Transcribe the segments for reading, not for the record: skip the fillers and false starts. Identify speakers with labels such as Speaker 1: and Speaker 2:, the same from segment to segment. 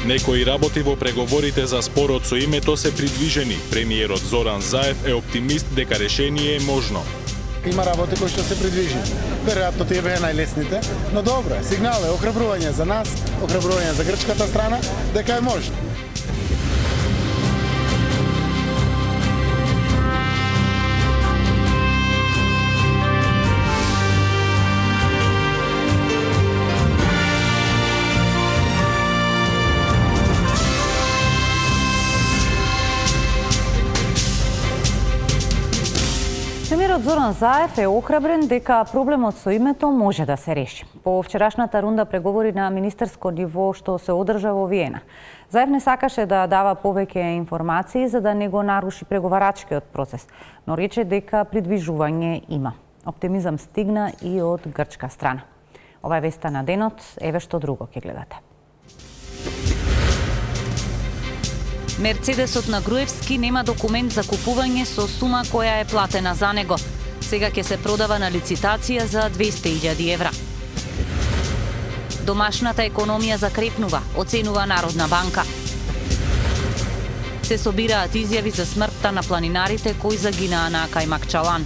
Speaker 1: Некои работи во преговорите за спорот со името се придвижени. Премиерот Зоран Заев е оптимист дека решение е можно.
Speaker 2: Има работи кои што се придвижени. Веројатно тие беа најлесните, но добро е. Сигнал е охрабрување за нас, охрабрување за грчката страна, дека е можно.
Speaker 3: Премиерот Зоран Заев е охрабрен дека проблемот со името може да се реши. По вчерашната рунда преговори на министерско ниво што се одржа во Виена, Заев не сакаше да дава повеќе информации за да не го наруши преговарачкиот процес, но рече дека придвижување има. Оптимизам стигна и од грчка страна. Ова е веста на денот, еве што друго ќе гледате.
Speaker 4: Мерцедесот на Груевски нема документ за купување со сума која е платена за него. Сега ќе се продава на лицитација за 200.000 евра. Домашната економија закрепнува, оценува Народна банка. Се собираат изјави за смртта на планинарите кои загинаа на Кајмакчалан.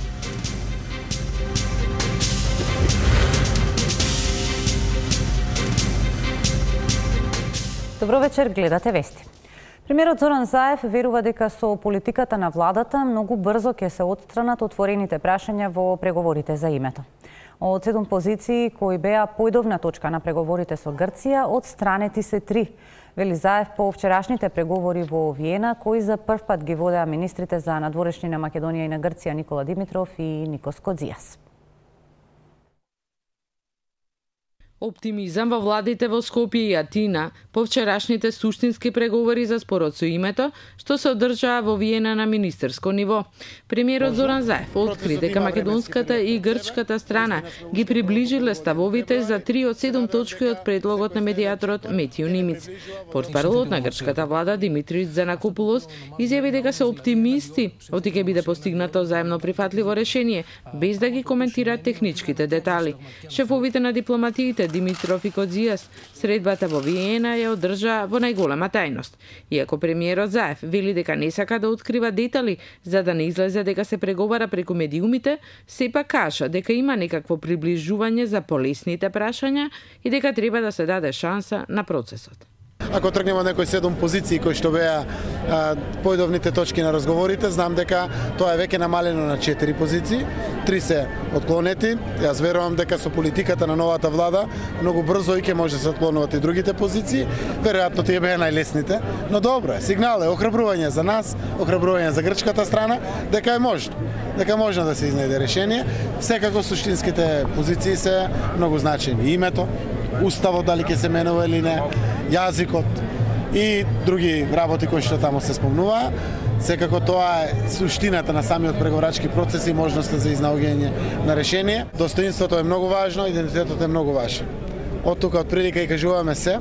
Speaker 3: Добро вечер, гледате вести. Премиерот Зоран Заев верува дека со политиката на владата многу брзо ќе се отстранат отворените прашања во преговорите за името. Од 7 позиции кои беа појдовна точка на преговорите со Грција, отстранети се 3. Вели Заев по вчерашните преговори во Виена, кои за прв пат ги водеа министрите за надворешни на Македонија и на Грција Никола Димитров и Никос Кодзијас.
Speaker 5: Оптимизам во владите во Скопје и Атина по вчерашните суштински преговори за спорот со името, што се одржаа во Виена на министерско ниво. Премиерот Зоран Заев откри дека македонската и грчката страна ги приближиле ставовите за 3 од 7 точки од предлогот на медијаторот Метио Нимиц. Портпаролот на грчката влада Димитрис Занакопулос изјави дека се оптимисти оти ќе биде постигнато заемно прифатливо решение, без да ги коментира техничките детали. Шефовите на дипломатиите Димитров и Кодзијас средбата во Виена ја одржа во најголема тајност. Иако премиерот Заев вели дека не сака да открива детали за да не излезе дека се преговара преку медиумите, сепак кажа дека има некакво приближување за полесните прашања и дека треба да се даде шанса на процесот.
Speaker 2: Ако тргнеме од некои 7 позиции кои што беа појдовните точки на разговорите, знам дека тоа е веќе намалено на 4 позиции, 3 се отклонети. Јас верувам дека со политиката на новата влада многу брзо и ќе може да се отклонуваат и другите позиции. Веројатно тие беа најлесните, но добро е. Сигнал е охрабрување за нас, охрабрување за грчката страна, дека е можно. Дека можно да се изнајде решение. Секако суштинските позиции се многу значајни. Името, уставот дали ќе се менува или не, јазикот и други работи кои што таму се спомнуваа. Секако тоа е суштината на самиот преговорачки процес и можноста за изнаоѓање на решение. Достоинството е многу важно, идентитетот е многу важен. Од тука од прилика и кажуваме се,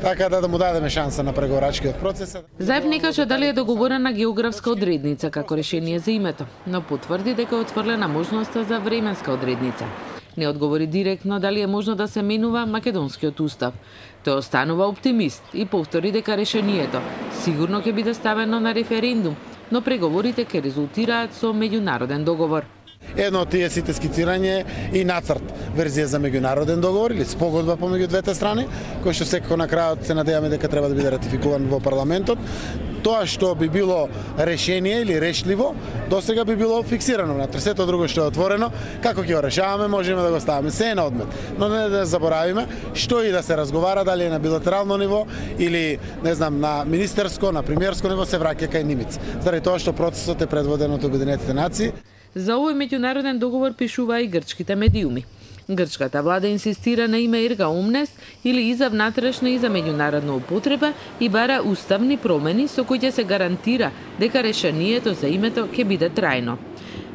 Speaker 2: така да му дадеме шанса на преговорачкиот процес.
Speaker 5: Заев не каже дали е договорена географска одредница како решение за името, но потврди дека е отврлена можноста за временска одредница. Не одговори директно дали е можно да се менува македонскиот устав. Тој останува оптимист и повтори дека решението сигурно ќе биде ставено на референдум, но преговорите ќе резултираат со меѓународен договор.
Speaker 2: Едно од тие сите скицирање и нацрт верзија за меѓународен договор или спогодба помеѓу двете страни, кој што секако на крајот се надеваме дека треба да биде ратификуван во парламентот. Тоа што би било решение или решливо, досега би било фиксирано внатре. Сето друго што е отворено, како ќе го решаваме, можеме да го ставаме. Се е на одмет. Но не да заборавиме што и да се разговара, дали е на билатерално ниво или, не знам, на министерско, на премиерско ниво, се враќа кај Нимиц. Заради тоа што процесот е предводен од Обединетите нации.
Speaker 5: За овој меѓународен договор пишува и грчките медиуми. Грчката влада инсистира на име Ерга Омнес или и за внатрешна и за меѓународна употреба и бара уставни промени со кои ќе се гарантира дека решението за името ќе биде трајно.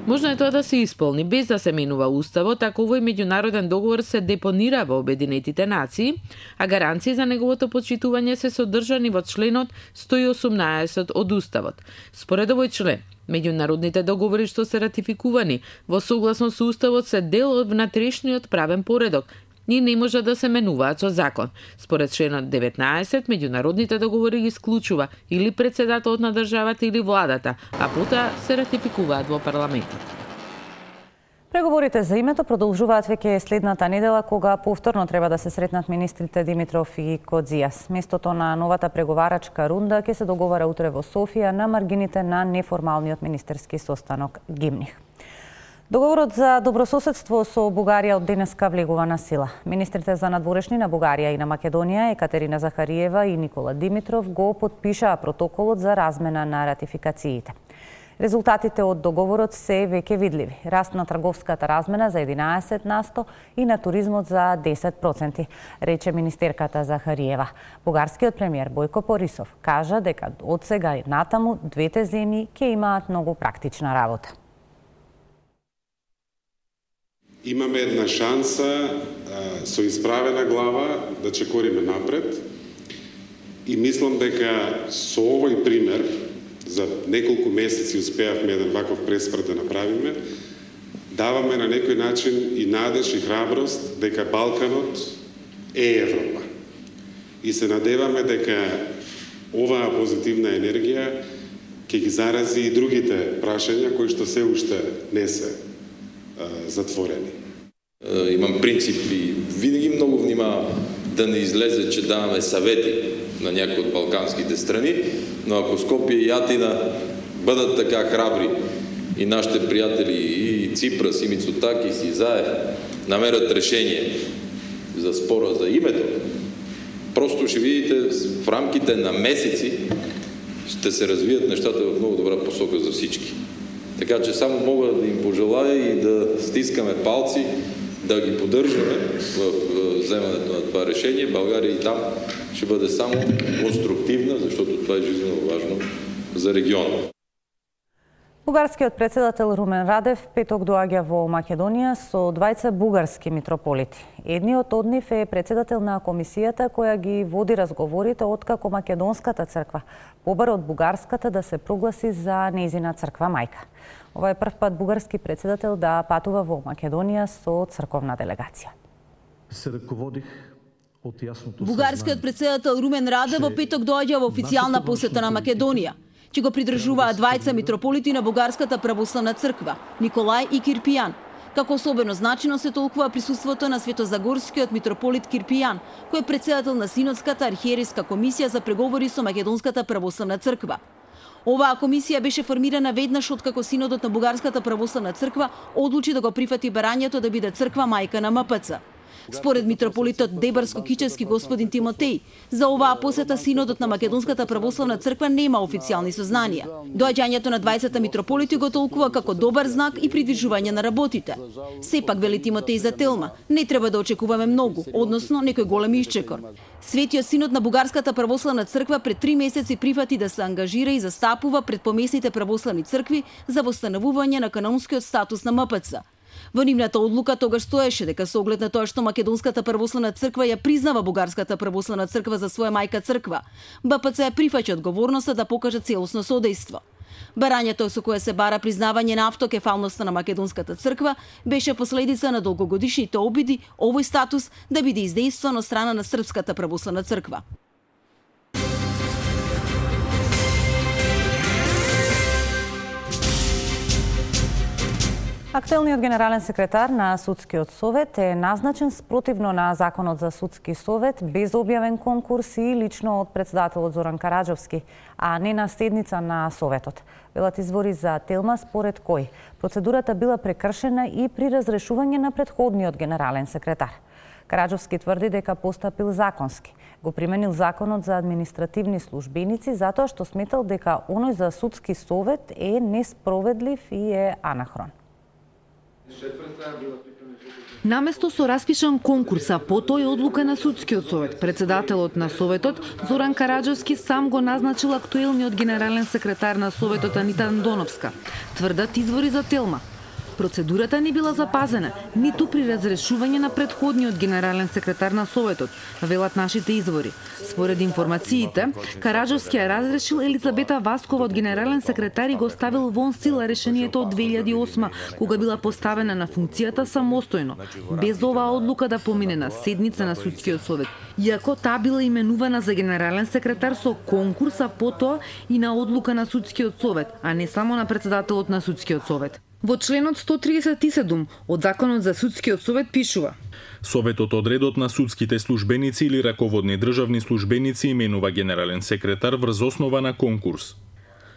Speaker 5: Можно е тоа да се исполни без да се менува уставот, ако овој меѓународен договор се депонира во Обединетите нации, а гаранции за неговото почитување се содржани во членот 118 од уставот. Според овој член, меѓународните договори што се ратификувани во согласно со уставот се дел од внатрешниот правен поредок ни не може да се менуваат со закон. Според членот 19, меѓународните договори ги исклучува или председателот на државата или владата, а потоа се ратификуваат во парламентот.
Speaker 3: Преговорите за името продолжуваат веќе следната недела, кога повторно треба да се сретнат министрите Димитров и Кодзијас. Местото на новата преговарачка рунда ќе се договара утре во Софија на маргините на неформалниот министерски состанок Гимних. Договорот за добрососедство со Бугарија од денеска влегува на сила. Министрите за надворешни на Бугарија и на Македонија, Екатерина Захариева и Никола Димитров, го потпишаа протоколот за размена на ратификациите. Резултатите од договорот се веќе видливи. Раст на трговската размена за 11% и на туризмот за 10%, рече министерката Захариева. Бугарскиот премиер Бојко Борисов кажа дека од сега натаму двете земји ќе имаат многу практична работа.
Speaker 6: Имаме една шанса со исправена глава да чекориме напред и мислам дека со овој пример за неколку месеци успеавме еден ваков пресврт да направиме, даваме на некој начин и надеж и храброст дека Балканот е Европа. И се надеваме дека оваа позитивна енергија ќе ги зарази и другите прашања кои што се уште не се затворени.
Speaker 7: Имам принцип и винаги многу внимавам да не излезе, че даваме съвети на някои от балканските страни, но ако Скопие и Атина бъдат така храбри и нашите приятели и Ципрас, и Мицотакис, и Заев намерят решение за спора за името, просто ще видите в рамките на месеци ще се развият нещата в много добра посока за всички. Така че само мога да им пожелая и да стискаме палци, да ги поддържаме в вземането на това решение. България и там ще бъде само конструктивна, защото това е жизненно важно за региона.
Speaker 3: Бугарскиот председател Румен Радев петок доаѓа во Македонија со двајца бугарски митрополити. Едниот од нив е председател на комисијата која ги води разговорите откако Македонската црква побара од бугарската да се прогласи за нејзина црква мајка. Ова е прв пат бугарски председател да патува во Македонија со црковна делегација.
Speaker 8: Се раководих од јасното
Speaker 9: Бугарскиот председател Румен Радев во петок доаѓа во официјална посета на Македонија, че го придржуваат двајца митрополити на Бугарската православна црква, Николај и Кирпијан. Како особено значено се толкува присуството на светозагорскиот митрополит Кирпијан, кој е председател на Синодската архиерейска комисија за преговори со Македонската православна црква. Оваа комисија беше формирана веднаш откако Синодот на Бугарската православна црква одлучи да го прифати барањето да биде црква мајка на МПЦ. Според митрополитот Дебарско-Кичевски господин Тимотеј, за оваа посета Синодот на Македонската православна црква нема официјални сознанија. Доаѓањето на 20 митрополити го толкува како добар знак и придвижување на работите. Сепак, вели Тимотеј за Телма, не треба да очекуваме многу, односно некој голем исчекор. Светиот Синод на Бугарската православна црква пред 3 месеци прифати да се ангажира и застапува пред помесните православни цркви за восстановување на канонскиот статус на МПЦ. Во нивната одлука тогаш стоеше дека со оглед на тоа што Македонската православна црква ја признава Бугарската православна црква за своја мајка црква, БПЦ ја прифаќа одговорноста да покаже целосно содејство. Барањето со кое се бара признавање на автокефалноста на Македонската црква беше последица на долгогодишните обиди овој статус да биде издействан од страна на Српската православна црква.
Speaker 3: Актуелниот генерален секретар на Судскиот совет е назначен спротивно на Законот за Судски совет, без објавен конкурс и лично од председателот Зоран Караџовски, а не на седница на Советот. Велат извори за Телма според кој процедурата била прекршена и при разрешување на претходниот генерален секретар. Караџовски тврди дека постапил законски. Го применил Законот за административни службеници затоа што сметал дека оној за Судски совет е несправедлив и е анахрон.
Speaker 10: Наместо со распишан конкурс, а по тој одлука на Судскиот совет, председателот на Советот Зоран Караџовски сам го назначил актуелниот генерален секретар на Советот Анита Андоновска. Тврдат извори за Телма. Процедурата не била запазена, ниту при разрешување на претходниот генерален секретар на Советот, велат нашите извори. Според информациите, Караджовски ја разрешил Елизабета Васкова од генерален секретар и го ставил вон сила решението од 2008, кога била поставена на функцијата самостојно, без оваа одлука да помине на седница на Судскиот совет. Иако таа била именувана за генерален секретар со конкурс, а потоа и на одлука на Судскиот совет, а не само на председателот на Судскиот совет. Во членот 137 од Законот за Судскиот совет пишува:
Speaker 1: Советот од редот на судските службеници или раководни државни службеници именува генерален секретар врз основа на конкурс.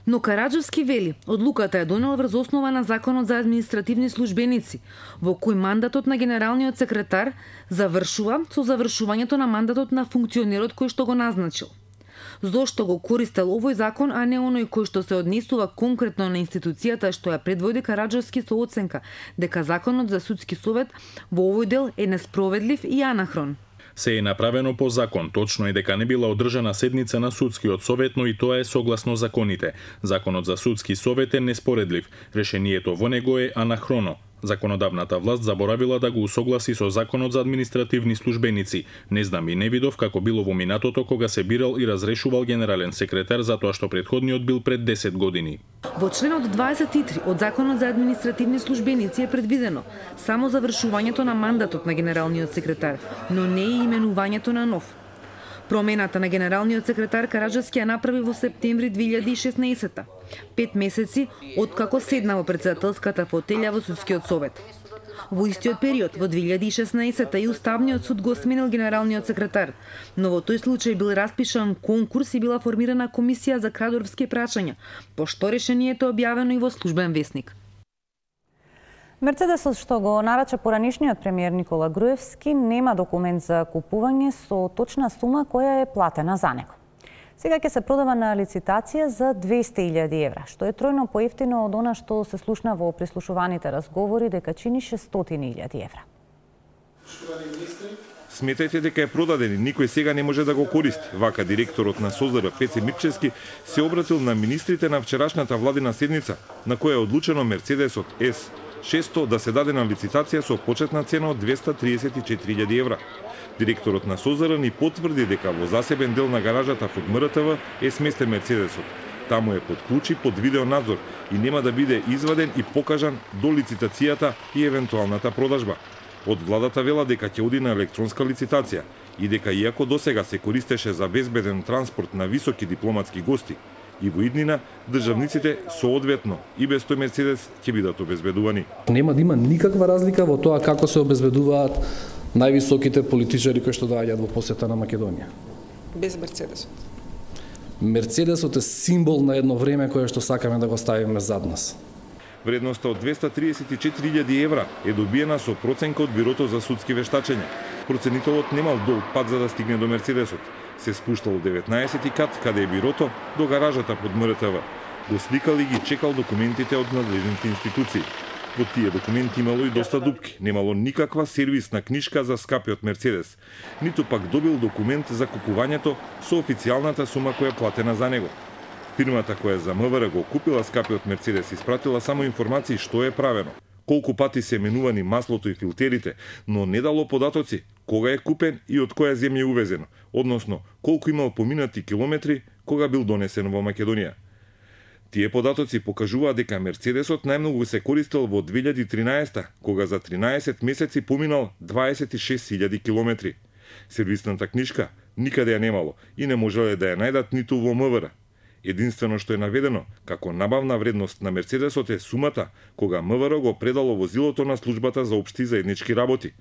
Speaker 10: Но Караджовски вели, одлуката е донел врз основа на Законот за административни службеници, во кој мандатот на генералниот секретар завршува со завршувањето на мандатот на функционерот кој што го назначил. Зошто го користел овој закон, а не оној кој што се однесува конкретно на институцијата што ја предводи Караджовски со оценка дека Законот за Судски совет во овој дел е несправедлив и анахрон.
Speaker 1: Се е направено по закон, точно е дека не била одржана седница на Судскиот совет, но и тоа е согласно законите. Законот за Судски совет е неспоредлив, решението во него е анахроно. Законодавната власт заборавила да го усогласи со Законот за административни службеници. Не знам и не видов како било во минатото кога се бирал и разрешувал генерален секретар затоа што претходниот бил пред 10 години.
Speaker 10: Во членот 23 од Законот за административни службеници е предвидено само завршувањето на мандатот на генералниот секретар, но не и именувањето на нов. Промената на генералниот секретар Караджовски ја направи во септември 2016, 5 месеци откако седна во председателската фотелја во Судскиот совет. Во истиот период, во 2016 и Уставниот суд го сменил генералниот секретар, но во тој случај бил распишан конкурс и била формирана комисија за кадровски прашања, пошто решението е објавено и во Службен весник.
Speaker 3: Мерцедесот што го нарача поранишниот премиер Никола Груевски нема документ за купување со точна сума која е платена за него. Сега ќе се продава на лицитација за 200.000 евра, што е тројно поевтино од она што се слушна во прислушуваните разговори дека чини 600.000 евра.
Speaker 11: Сметајте дека е продаден и никој сега не може да го користи. Вака директорот на СОЗР Пеце Мирчевски се обратил на министрите на вчерашната владина седница, на која е одлучено Мерцедесот С600 да се даде на лицитација со почетна цена од 234.000 евра. Директорот на СОЗР ни потврди дека во засебен дел на гаражата под МРТВ е сместен Мерцедесот. Таму е под ключи, под видеонадзор и нема да биде изваден и покажан до лицитацијата и евентуалната продажба. Од владата вела дека ќе оди на електронска лицитација и дека иако досега се користеше за безбеден транспорт на високи дипломатски гости, и во иднина државниците соодветно и без тој Мерцедес ќе бидат обезбедувани.
Speaker 12: Нема да има никаква разлика во тоа како се обезбедуваат највисоките политичари кои што доаѓаат во посета на Македонија.
Speaker 13: Без Мерцедесот.
Speaker 12: Мерцедесот е символ на едно време кое што сакаме да го ставиме зад нас.
Speaker 11: Вредноста од 234.000 евра е добиена со проценка од Бирото за судски вештачења. Проценителот немал долг пат за да стигне до Мерцедесот. Се спуштал 19 кат, каде е Бирото, до гаражата под МРТВ. Го сликал и ги чекал документите од надлежните институции. Во тие документи имало и доста дупки. Немало никаква сервисна книшка за скапиот Мерцедес. Ниту пак добил документ за купувањето со официјалната сума која е платена за него. Фирмата која за МВР го купила скапиот Мерцедес испратила само информации што е правено, колку пати се менувани маслото и филтерите, но не дало податоци кога е купен и од која земја е увезено, односно колку имал поминати километри кога бил донесен во Македонија. Тие податоци покажуваат дека Мерцедесот најмногу се користел во 2013, кога за 13 месеци поминал 26.000 километри. Сервисната книшка никаде ја немало и не можеле да ја најдат ниту во МВР. Единствено што е наведено како набавна вредност на Мерцедесот е сумата кога МВР го предало возилото на службата за општи заеднички работи.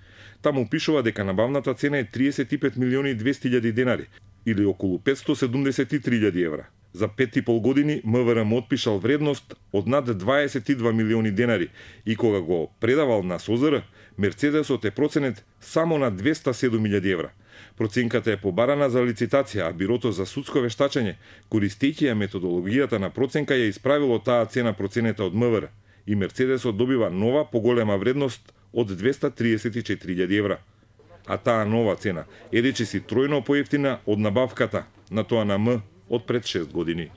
Speaker 11: Таму пишува дека набавната цена е 35.200.000 денари или околу 573.000 евра. За 5,5 години МВР му отпишал вредност од над 22 милиони денари и кога го предавал на СОЗР, Мерцедесот е проценет само на 207.000 евра. Проценката е побарана за лицитација, а Бирото за судско вештачење, користејќи ја методологијата на проценка, ја исправило таа цена проценета од МВР и Мерцедесот добива нова поголема вредност од 234.000 евра. А таа нова цена е речиси тројно поевтина од набавката на тоа на М од пред 6 години.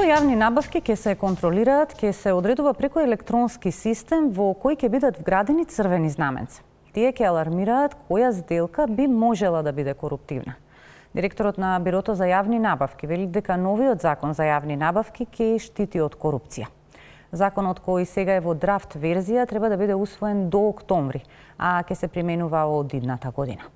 Speaker 3: јавни набавки ќе се контролираат, ќе се одредува преку електронски систем во кој ќе бидат вградени црвени знаменца. Тие ќе алармираат која сделка би можела да биде коруптивна. Директорот на Бирото за јавни набавки вели дека новиот закон за јавни набавки ќе штити од корупција. Законот кој сега е во драфт верзија треба да биде усвоен до октомври, а ќе се применува од идната година.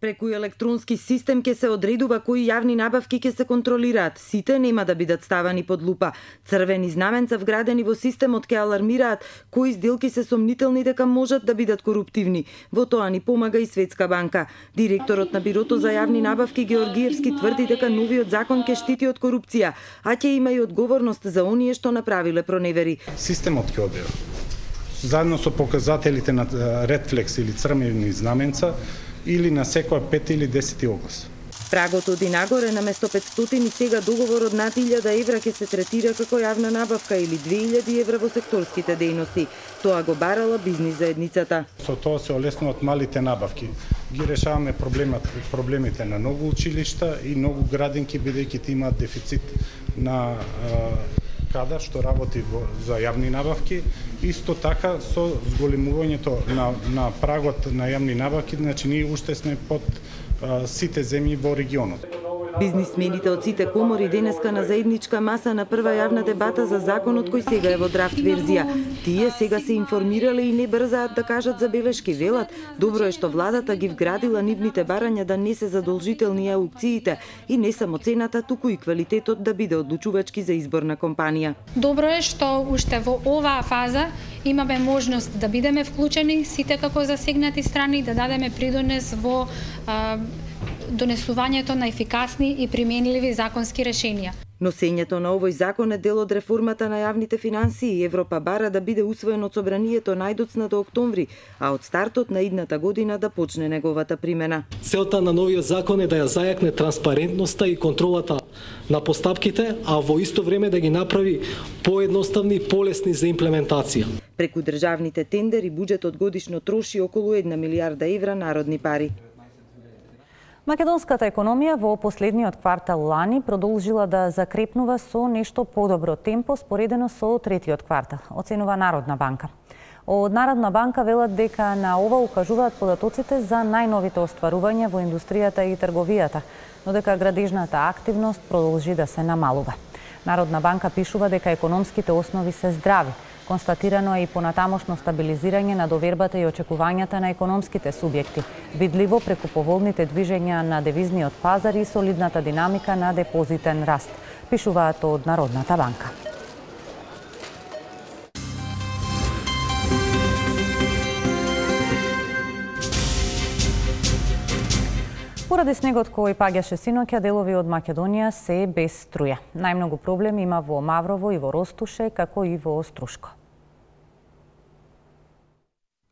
Speaker 14: Преку електронски систем ќе се одредува кои јавни набавки ќе се контролираат. Сите нема да бидат ставани под лупа. Црвени знаменца вградени во системот ќе алармираат кои сделки се сомнителни дека можат да бидат коруптивни. Во тоа ни помага и Светска банка. Директорот на Бирото за јавни набавки Георгиевски тврди дека новиот закон ќе штити од корупција, а ќе има и одговорност за оние што направиле проневери.
Speaker 15: Системот ќе одбива. Заедно со показателите на редфлекс или црвени знаменца или на секоја 5 или 10 оглас.
Speaker 14: Прагот оди нагоре, наместо 500 и сега договорот над 1000 евра ќе се третира како јавна набавка или 2000 евра во секторските дејности. Тоа го барала бизнис заедницата.
Speaker 15: Со тоа се олеснуваат малите набавки. Ги решаваме проблемите на многу училишта и многу градинки, бидејќи ти имаат дефицит на кадар што работи за јавни набавки. Исто така со зголемувањето на прагот на јавни набавки, значи ние уште сме под сите земји во регионот.
Speaker 14: Бизнисмените од сите комори денеска на заедничка маса на прва јавна дебата за законот кој сега е во драфт верзија. Тие сега се информирале и не брзаат да кажат забелешки. Велат, добро е што владата ги вградила нивните барања да не се задолжителни аукциите и не само цената, туку и квалитетот да биде одлучувачки за избор на компанија.
Speaker 16: Добро е што уште во оваа фаза имаме можност да бидеме вклучени сите како засегнати страни, да дадеме придонес во донесувањето на ефикасни и применливи законски решенија.
Speaker 14: Носењето на овој закон е дел од реформата на јавните финансии и Европа бара да биде усвоен од собранието најдоцна до октомври, а од стартот на идната година да почне неговата примена.
Speaker 17: Целта на новиот закон е да ја зајакне транспарентноста и контролата на постапките, а во исто време да ги направи поедноставни и полесни за имплементација.
Speaker 14: Преку државните тендери буџетот годишно троши околу 1 милијарда евра народни пари.
Speaker 3: Македонската економија во последниот квартал лани продолжила да закрепнува со нешто подобро темпо споредено со третиот квартал, оценува Народна банка. Од Народна банка велат дека на ова укажуваат податоците за најновите остварувања во индустријата и трговијата, но дека градежната активност продолжи да се намалува. Народна банка пишува дека економските основи се здрави. Констатирано е и понатамошно стабилизирање на довербата и очекувањата на економските субјекти, видливо преку поволните движења на девизниот пазар и солидната динамика на депозитен раст, пишуваат од Народната банка. Поради снегот кој паѓаше синоќа, делови од Македонија се без струја. Најмногу проблеми има во Маврово и во Ростуше, како и во Острушко.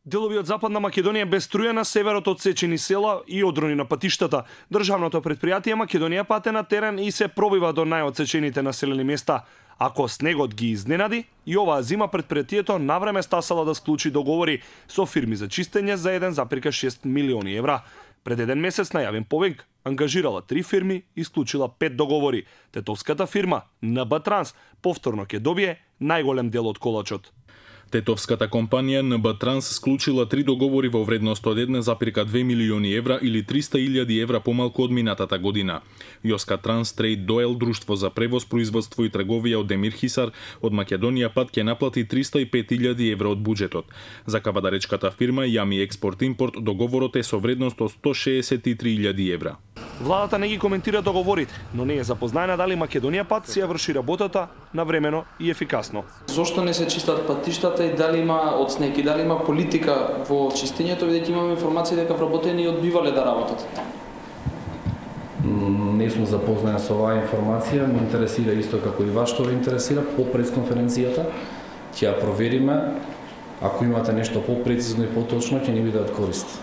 Speaker 18: Делови од Западна Македонија без струја на северот одсечени села и одрони на патиштата. Државното предпријатие Македонија пате на терен и се пробива до најодсечените населени места. Ако снегот ги изненади, и оваа зима предпријатието навреме стасала да склучи договори со фирми за чистење за 1,6 милиони евра. Пред еден месец најавен повеќе ангажирала 3 фирми и склучила 5 договори. Тетовската фирма НБ Транс повторно ќе добие најголем дел од колачот.
Speaker 1: Тетовската компанија НБ Транс склучила 3 договори во вредност од 1,2 милиони евра или 300.000 евра помалку од минатата година. Јоска Транс Трейд Доел, друштво за превоз, производство и трговија од Демир Хисар, од Македонија пат ќе наплати 305.000 евра од буџетот. За кавадаречката фирма Јами Експорт Импорт договорот е со вредност од 163.000 евра.
Speaker 18: Владата не ги коментира договорите, но не е запознаена дали Македонија пат си ја врши работата навремено и ефикасно.
Speaker 12: Зошто не се чистат патиштата и дали има од снег и дали има политика во чистењето, бидејќи имаме информации дека вработени одбивале да работат? Не сум запознаен со оваа информација, ме интересира исто како и вас што ве интересира по пресконференцијата. Ќе ја провериме, ако имате нешто попрецизно и поточно, ќе ни биде од корист.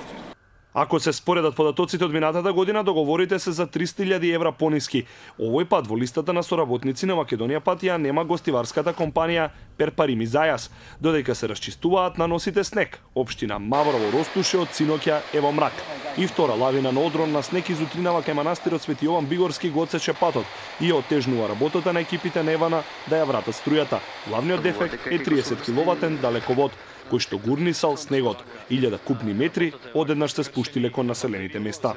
Speaker 18: Ако се споредат податоците од минатата година, договорите се за 300.000 евра пониски. Овој пат во листата на соработници на Македонија пат ја нема гостиварската компанија Перпарими Зајас, додека се расчистуваат наносите снег. Општина Маврово Ростуше од синоќа е во мрак. И втора лавина на одрон на снег из утринава кај манастирот Свети Јован Бигорски го отсече патот и отежнува работата на екипите на Евана да ја врата струјата. Главниот дефект е 30 киловатен далековод кој што гурнисал снегот. 1000 купни метри одеднаш се спуштиле кон населените места.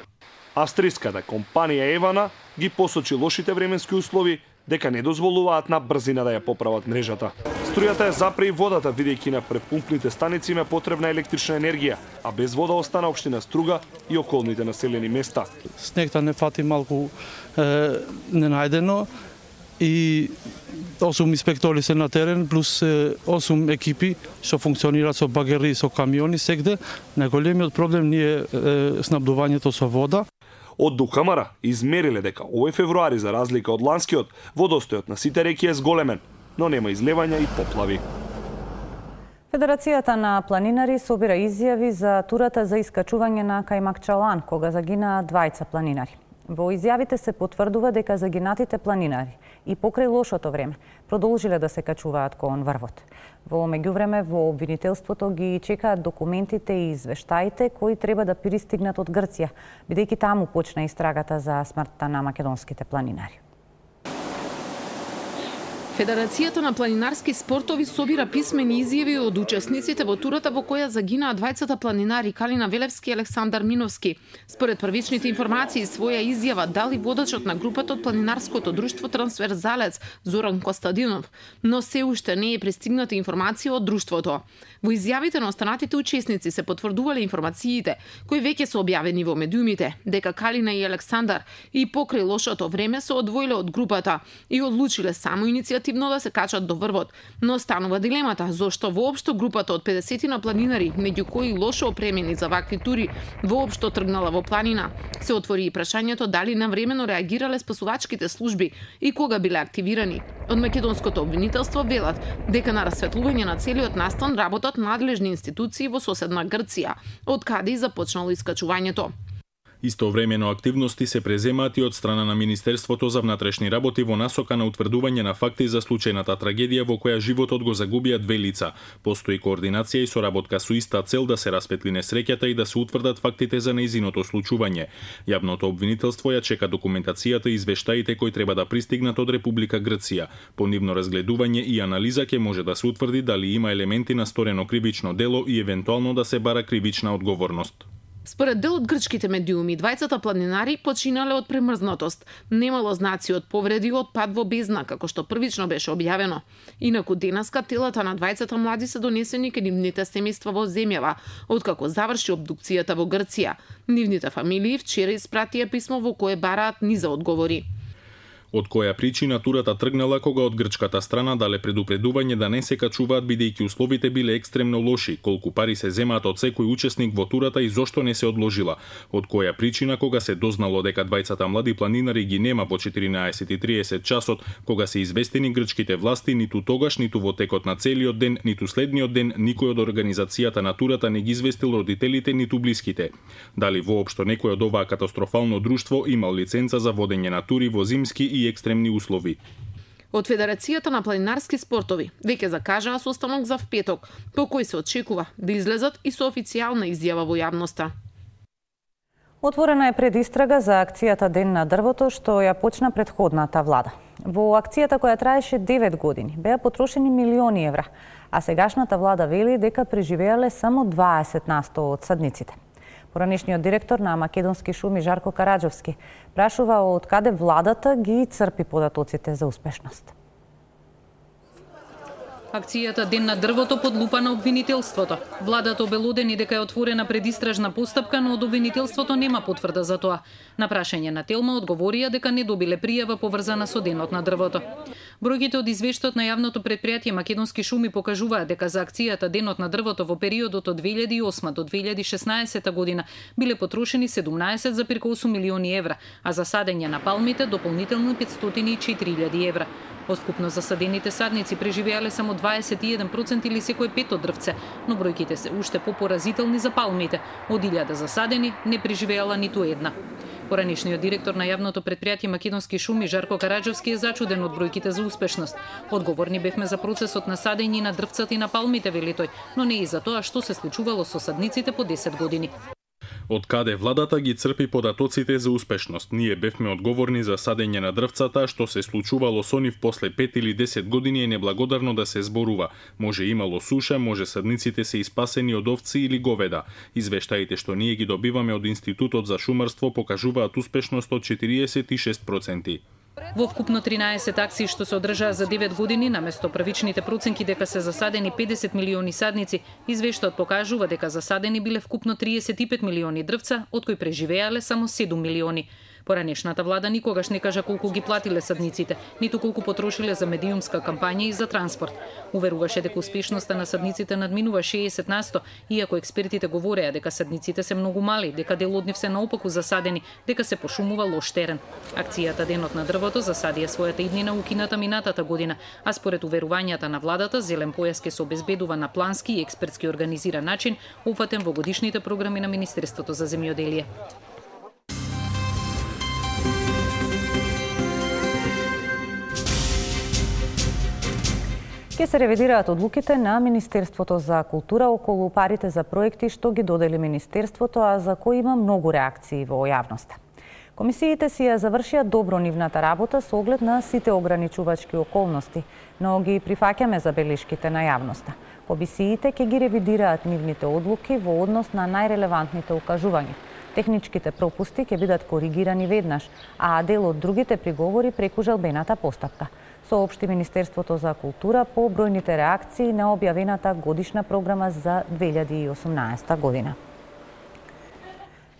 Speaker 18: Австриската компанија Евана ги посочи лошите временски услови дека не дозволуваат на брзина да ја поправат мрежата. Струјата ја запре и водата, бидејќи на препумпните станици им е потребна електрична енергија, а без вода остана општина Струга и околните населени места.
Speaker 19: Снегта не фати малку ненајдено и 8 инспектори се на терен, плюс 8 екипи што функционираат со багери и со камиони сегде. Најголемиот проблем ни е снабдувањето со вода.
Speaker 18: Од Дукамара измериле дека овој февруари, за разлика од ланскиот, водостојот на сите реки е зголемен, но нема излевања и поплави.
Speaker 3: Федерацијата на планинари собира изјави за турата за искачување на Кајмакчалан, кога загинаа двајца планинари. Во изјавите се потврдува дека загинатите планинари и покрај лошото време продолжиле да се качуваат кон врвот. Во меѓувреме во обвинителството ги чекаат документите и извештаите кои треба да пристигнат од Грција, бидејќи таму почна истрагата за смртта на македонските планинари.
Speaker 5: Федерацијата на планинарски спортови собира писмени изјави од учесниците во турата во која загинаа двајцата планинари Калина Велевски и Александар Миновски. Според првичните информации, своја изјава дали водачот на групата од планинарското друштво Трансверзалец Зоран Костадинов, но се уште не е пристигната информација од друштвото. Во изјавите на останатите учесници се потврдувале информациите кои веќе се објавени во медиумите, дека Калина и Александар и покрај лошото време се одвоиле од групата и одлучиле само иницијативно да се качат до врвот, но останува дилемата зошто воопшто групата од 50 на планинари, меѓу кои лошо опремени за вакви тури, воопшто тргнала во планина. Се отвори и прашањето дали навремено реагирале спасувачките служби и кога биле активирани. Од македонското обвинителство велат дека на расветлување на целиот настан работат надлежни институции во соседна Грција, од каде и започнало искачувањето.
Speaker 1: Истовремено активности се преземаат и од страна на Министерството за внатрешни работи во насока на утврдување на факти за случајната трагедија во која животот го загубија две лица. Постои координација и соработка со иста цел да се распетли несреќата и да се утврдат фактите за нејзиното случување. Јавното обвинителство ја чека документацијата и извештаите кои треба да пристигнат од Република Грција. По нивно разгледување и анализа ќе може да се утврди дали има елементи на сторено кривично дело и евентуално да се бара кривична одговорност.
Speaker 5: Според дел од грчките медиуми, двајцата планинари починале од премрзнатост. Немало знаци од повреди од пад во бездна, како што првично беше објавено. Инаку денеска телата на двајцата млади се донесени кај нивните семејства во земјава, откако заврши обдукцијата во Грција. Нивните фамилии вчера испратија писмо во кое бараат низа одговори.
Speaker 1: Од која причина турата тргнала кога од грчката страна дале предупредување да не се качуваат бидејќи условите биле екстремно лоши, колку пари се земаат од секој учесник во турата и зошто не се одложила. Од која причина кога се дознало дека двајцата млади планинари ги нема по 14:30 часот, кога се известени грчките власти, ниту тогаш, ниту во текот на целиот ден, ниту следниот ден, никој од организацијата на турата не ги известил родителите ниту блиските. Дали воопшто некој од оваа катастрофално друштво имал лиценца за водење на тури во зимски и екстремни услови.
Speaker 5: Од Федерацијата на планинарски спортови веќе закажаа состанок за впеток, по кој се очекува да излезат и со официјална изјава во јавноста.
Speaker 3: Отворена е предистрага за акцијата Ден на дрвото што ја почна претходната влада. Во акцијата која траеше 9 години беа потрошени милиони евра, а сегашната влада вели дека преживеале само 20% од садниците. Поранешниот директор на Македонски шуми Жарко Караџовски прашува од каде владата ги црпи податоците за успешност.
Speaker 20: Акцијата Ден на дрвото под лупа на обвинителството. Владата обелодени дека е отворена предистражна постапка, но од обвинителството нема потврда за тоа. На прашање на Телма одговорија дека не добиле пријава поврзана со Денот на дрвото. Бројките од извештајот на јавното предпријатие Македонски шуми покажуваат дека за акцијата Денот на дрвото во периодот од 2008 до 2016 година биле потрошени 17,8 милиони евра, а за садење на палмите дополнително 504.000 евра. Од вкупно засадените садници преживеале само 21% или секој пето дрвце, но бројките се уште попоразителни за палмите. Од 1000 засадени не преживеала ниту една. Поранешниот директор на јавното предпријатие Македонски шуми Жарко Караџовски е зачуден од бројките за успешност. Одговорни бевме за процесот на садење на дрвцата и на палмите, вели тој, но не и за тоа што се случувало со садниците по 10 години.
Speaker 1: Од каде владата ги црпи податоците за успешност? Ние бевме одговорни за садење на дрвцата, што се случувало со нив после 5 или 10 години е неблагодарно да се зборува. Може имало суша, може садниците се испасени од овци или говеда. Извештаите што ние ги добиваме од Институтот за шумарство покажуваат успешност од 46%.
Speaker 20: Во вкупно 13 акции што се одржаа за 9 години, наместо првичните проценки дека се засадени 50 милиони садници, извештаот покажува дека засадени биле вкупно 35 милиони дрвца, од кои преживеале само 7 милиони. Поранешната влада никогаш не кажа колку ги платиле садниците, ниту колку потрошиле за медиумска кампања и за транспорт. Уверуваше дека успешноста на садниците надминува 60%, иако експертите говореа дека садниците се многу мали, дека дел од нив се наопаку засадени, дека се пошумува лош терен. Акцијата Денот на дрвото засадија својата иднина укината минатата година, а според уверувањата на владата, зелен појас ќе се обезбедува на плански и експертски организиран начин, опфатен во годишните програми на Министерството за земјоделие.
Speaker 3: Ке се ревидираат одлуките на Министерството за култура околу парите за проекти што ги додели Министерството, а за кои има многу реакции во јавноста. Комисиите си ја завршија добро нивната работа со оглед на сите ограничувачки околности, но ги прифаќаме забелешките на јавноста. Комисиите ќе ги ревидираат нивните одлуки во однос на најрелевантните укажувања. Техничките пропусти ќе бидат коригирани веднаш, а дел од другите приговори преку жалбената постапка. Соопшти Министерството за култура по бројните реакции на објавената годишна програма за 2018 година.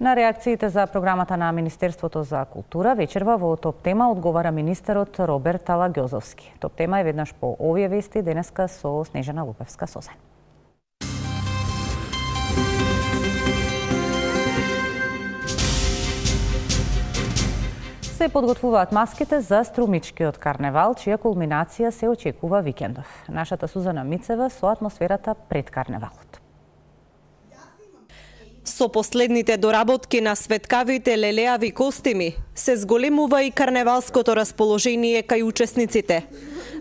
Speaker 3: На реакциите за програмата на Министерството за култура вечерва во Топ тема одговара министерот Роберт Алагјозовски. Топ тема е веднаш по овие вести денеска со Снежана Лупевска-Созен. Се подготвуваат маските за Струмичкиот карневал, чија кулминација се очекува викендов. Нашата Сузана Мицева со атмосферата пред карневалот.
Speaker 21: Со последните доработки на светкавите лелеави костими се зголемува и карневалското расположение кај учесниците.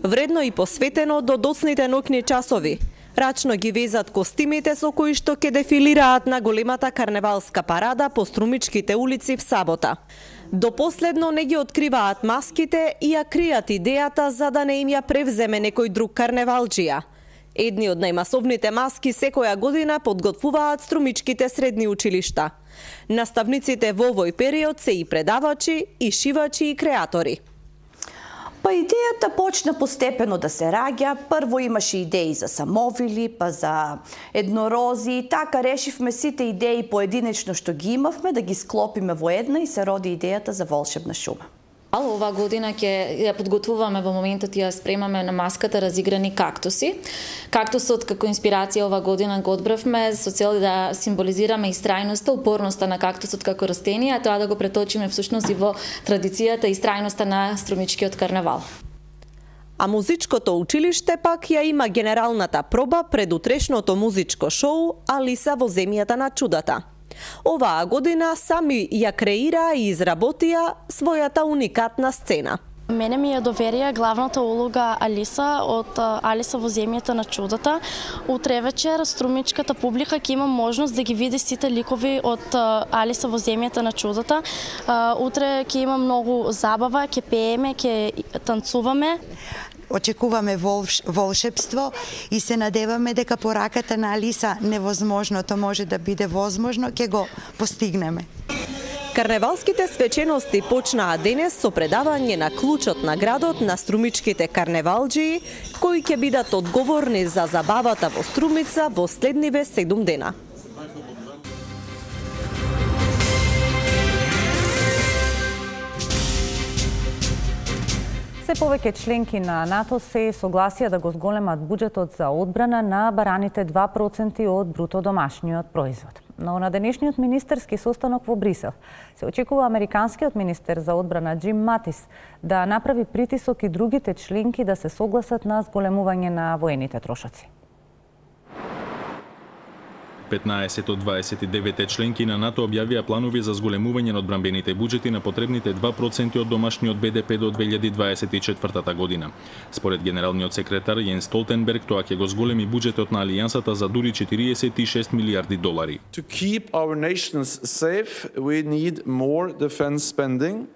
Speaker 21: Вредно и посветено до доцните ноќни часови. Рачно ги везат костимите со кои што ќе дефилираат на големата карневалска парада по Струмичките улици в сабота. До последно не ги откриваат маските и ја кријат идејата за да не им ја превземе некој друг карневалџија. Едни од најмасовните маски секоја година подготвуваат Струмичките средни училишта. Наставниците во овој период се и предавачи, и шивачи, и креатори.
Speaker 22: Па идејата почна постепено да се раѓа. Прво имаше идеи за самовили, па за еднорози. Така решивме сите идеи поединечно што ги имавме да ги склопиме во една и се роди идејата за волшебна шума.
Speaker 23: Ова година ќе ја подготвуваме, во моментот ја спремаме на маската разиграни кактуси. Кактусот како инспирација ова година го одбравме со цел да символизираме истрајноста, упорноста на кактусот како растение, а тоа да го преточиме всушност и во традицијата и истрајноста на Струмичкиот карневал.
Speaker 21: А музичкото училиште пак ја има генералната проба пред утрешното музичко шоу Алиса во земјата на чудата. Оваа година сами ја креираа и изработија својата уникатна сцена.
Speaker 24: Мене ми ја доверија главната улога Алиса од Алиса во земјата на чудата. Утре вечер струмичката публика ќе има можност да ги види сите ликови од Алиса во земјата на чудата. Утре ќе има многу забава, ќе пееме, ќе танцуваме.
Speaker 25: Очекуваме волшебство и се надеваме дека по раката на Алиса невозможното може да биде возможно, ќе го постигнеме.
Speaker 21: Карневалските свечености почнаа денес со предавање на клучот на градот на Струмичките карневалџии, кои ќе бидат одговорни за забавата во Струмица во следниве 7 дена.
Speaker 3: Се повеќе членки на НАТО се согласија да го зголемат буџетот за одбрана на бараните 2% од бруто домашниот производ. Но на денешниот министерски состанок во Брисел се очекува американскиот министер за одбрана Джим Матис да направи притисок и другите членки да се согласат на зголемување на воените трошоци.
Speaker 1: 15 од 29 членки на НАТО објавија планови за зголемување на одбранбените буџети на потребните 2% од домашниот БДП до 2024 година. Според генералниот секретар Јенс Столтенберг, тоа ќе го зголеми буџетот на алијансата за дури 46 милиарди долари.
Speaker 2: To keep our nations safe, we need more defense spending,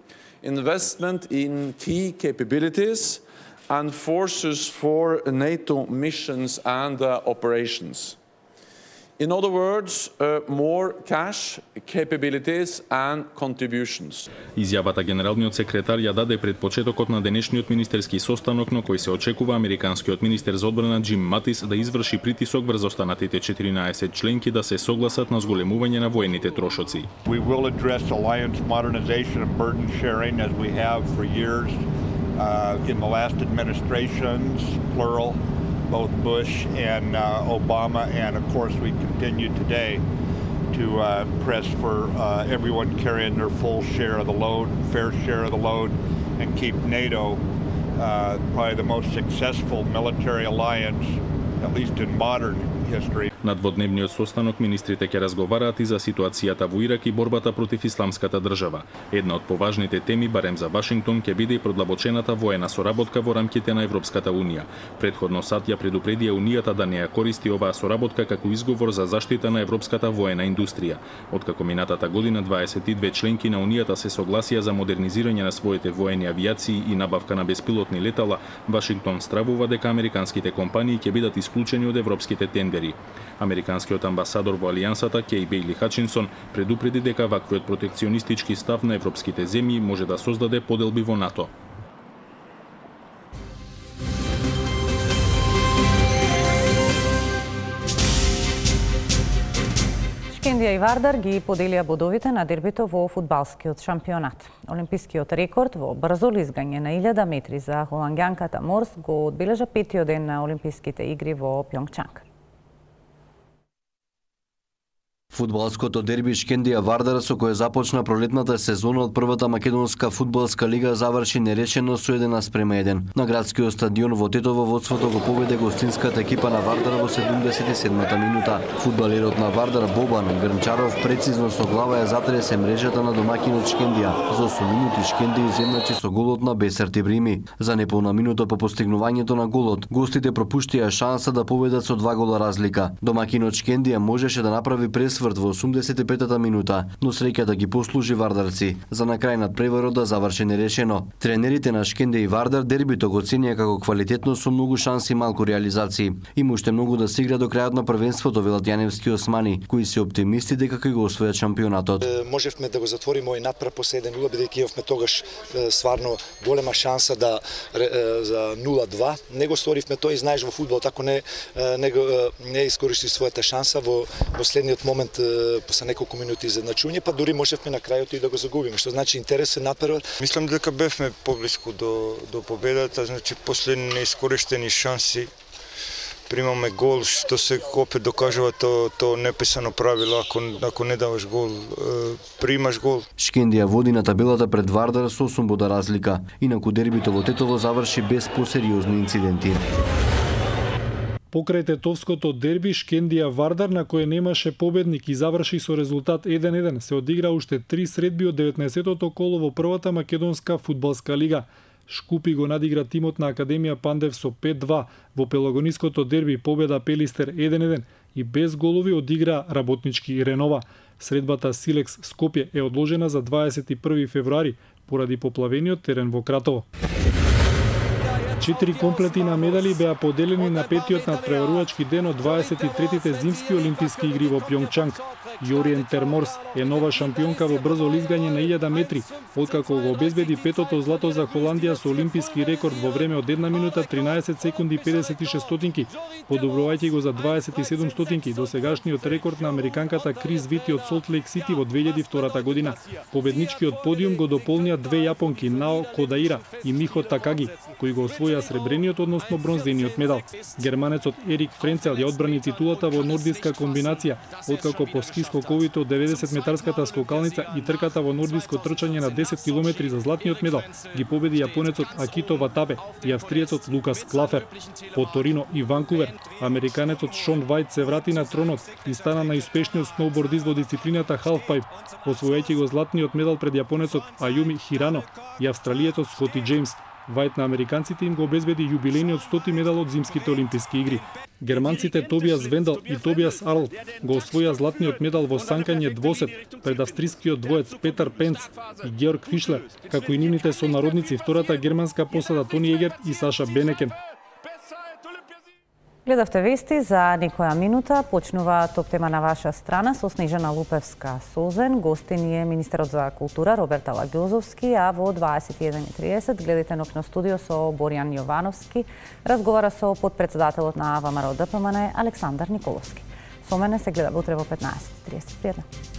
Speaker 2: investment in key capabilities and forces for NATO missions and operations. In other words, more cash, capabilities and contributions.
Speaker 1: Изјавата генералниот секретар ја даде пред почетокот на денешниот министерски состанок на кој се очекува американскиот министер за одбрана Џим Матис да изврши притисок врз останатите 14 членки да се согласат на зголемување на воените трошоци.
Speaker 4: We will address alliance modernization and burden sharing as we have for years in the last administrations, plural. Both Bush and Obama, and of course we continue today to press for everyone carrying their full share of the load, fair share of the load, and keep NATO probably the most successful military alliance, at least in modern history.
Speaker 1: На дводневниот состанок министрите ќе разговараат и за ситуацијата во Ирак и борбата против исламската држава. Една од поважните теми, барем за Вашингтон, ќе биде и продлабочената воена соработка во рамките на Европската унија. Предходно САД ја предупредија унијата да не ја користи оваа соработка како изговор за заштита на европската воена индустрија. Откако минатата година 22 членки на унијата се согласија за модернизирање на своите воени авијации и набавка на беспилотни летала, Вашингтон стравува дека американските компании ќе бидат исклучени од европските тендери. Американскиот амбасадор во алијансата Кеј Бејли Хачинсон предупреди дека ваквиот протекционистички став на европските земји може да создаде поделби во НАТО.
Speaker 3: Шкендија и Вардар ги поделија бодовите на дербито во фудбалскиот шампионат. Олимпискиот рекорд во брзо лизгање на 1000 метри за холанѓанката Морс го одбележа петиот ден на Олимписките игри во Пјонгчанг.
Speaker 6: Фудбалското дерби Шкендија Вардар, со кое започна пролетната сезона од првата македонска фудбалска лига, заврши нерешено со 1:1. На градскиот стадион во Тетово водството го поведе гостинската екипа на Вардар во 77-та минута. Фудбалерот на Вардар Бобан Грнчаров прецизно со глава ја затресе мрежата на домакинот Шкендија. За 8 минути Шкендија изедначи со голот на Бесар Тибрими. За неполна минута по постигнувањето на голот, гостите пропуштија шанса да победат со 2 гола разлика. Домакинот Шкендија можеше да направи пресврт во 85-та минута, но среќата ги послужи вардарци за на крај над преварот да заврши нерешено. Тренерите на Шкендија и Вардар дербито го оценија како квалитетно со многу шанси и малку реализации. Има уште многу да се игра до крајот на првенството, велат Јаневски Османи, кои се оптимисти дека ќе го освојат шампионатот.
Speaker 7: Можевме да го затвориме овој надпрев по 7-0, бидејќи имавме тогаш стварно голема шанса да за 0-2. Не го сторивме тој, и знаеш во фудбал тако не искористи својата шанса во следниот момент после неколку минути изедначување, па дури можевме на крајот и да го загубиме, што значи интересен напрев.
Speaker 8: Мислам дека бевме поблиску до победата, значи после неискористени шанси примаме гол, што се опет докажува то неписано правило, ако не даваш гол, примаш гол.
Speaker 6: Шкендија води на табелата пред Вардар со 8 бода разлика, инаку дербито во Тетово заврши без посериозни инциденти.
Speaker 26: Покрај тетовското дерби Шкендија Вардар, на кое немаше победник и заврши со резултат 1-1, се одигра уште 3 средби од 19-тото коло во првата македонска фудбалска лига. Шкупи го надигра тимот на Академија Пандев со 5-2, во пелагониското дерби победа Пелистер 1-1 и без голови одигра Работнички и Ренова. Средбата Силекс Скопје е одложена за 21 февруари поради поплавениот терен во Кратово. 4 комплети на медали беа поделени на петиот надпреварувачки ден од 23-тите зимски олимписки игри во Пјонгчанг. Јориен Терморс е нова шампионка во брзо лизгање на 1000 метри, откако го обезбеди петото злато за Холандија со олимписки рекорд во време од 1 минута 13 секунди 56 стотинки, подобрувајќи го за 27 стотинки до сегашниот рекорд на американката Крис Вити од Солт Лейк Сити во 2002 година. Победничкиот подиум го дополнија две јапонки Нао Кодаира и Михо Такаги, кои го освоја сребрениот, односно бронзениот медал. Германецот Ерик Френцел ја одбрани титулата во нордиска комбинација, откако по ски скоковите од 90 метарската скокалница и трката во нордиско трчање на 10 километри за златниот медал ги победи јапонецот Акито Ватабе и австриецот Лукас Клафер. По Торино и Ванкувер, американецот Шон Вајт се врати на тронот и стана најуспешниот сноубордист во дисциплината халфпайп, освојајќи го златниот медал пред јапонецот Аюми Хирано и австралиецот Скоти Џејмс. Вајт на американците им го обезбеди јубилејниот 100-ти медал од зимските олимписки игри. Германците Тобиас Вендал и Тобиас Арл го освоја златниот медал во санкање двосет пред австрискиот двоец Петар Пенц и Георг Фишлер, како и нивните сонародници втората германска посада Тони Егерт и Саша Бенекен.
Speaker 3: Гледавте вести за некоја минута. Почнува топ тема на ваша страна со Снежана Лупевска-Созен. Гостин е министерот за култура Роберт Алагјозовски, а во 21:30 гледате Ноќно студио со Боријан Јовановски. Разговара со подпредседателот на ВМРО ДПМН Александар Николовски. Со мене се гледа утре во 15:30. Пријатно.